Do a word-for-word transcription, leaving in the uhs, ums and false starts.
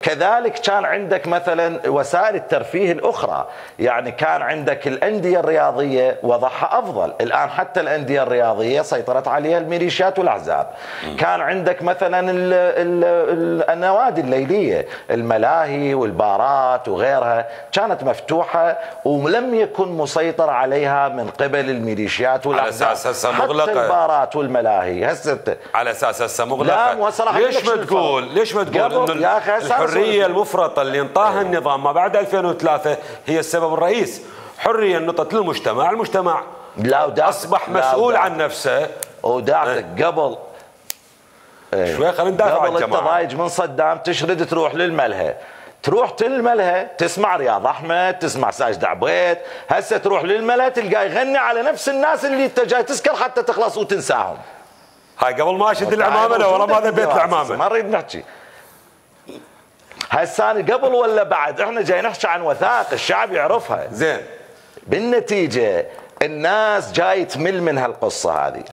كذلك كان عندك مثلا وسائل الترفيه الأخرى، يعني كان عندك الأندية الرياضية وضعها أفضل. الآن حتى الأندية الرياضية سيطرت عليها الميليشيات والأحزاب. كان عندك مثلا ال ال ال النوادي الليلية، الملاهي والبارات وغيرها كانت مفتوحة ولم يكن مسيطر عليها من قبل الميليشيات والأحزاب. على أساس هسه مغلقة حتى البارات والملاهي هسه على أساس هسه مغلقة. لا ليش ما تقول ليش ما تقول إنه الحرية المفرطة اللي انطاها النظام ما بعد ألفين وثلاثة هي السبب الرئيس؟ حرية نطت للمجتمع، المجتمع لا أصبح مسؤول عن نفسه. وداعتك قبل شوي خلينا ندافع عن الجماعة. قبل التضايج من صدام تشرد تروح للملهى، تروح للملهى تسمع رياض احمد، تسمع ساجد عبيد. هسه تروح للملهى تلقاه يغني على نفس الناس اللي انت جاي تسكر حتى تخلص وتنساهم. هاي قبل ما اشد العمامه لو والله ما ذبيت العمامه، ما نريد نحكي هسه قبل ولا بعد. احنا جاي نحكي عن وثائق الشعب يعرفها. زين بالنتيجه الناس جاي تمل من هالقصه هذه.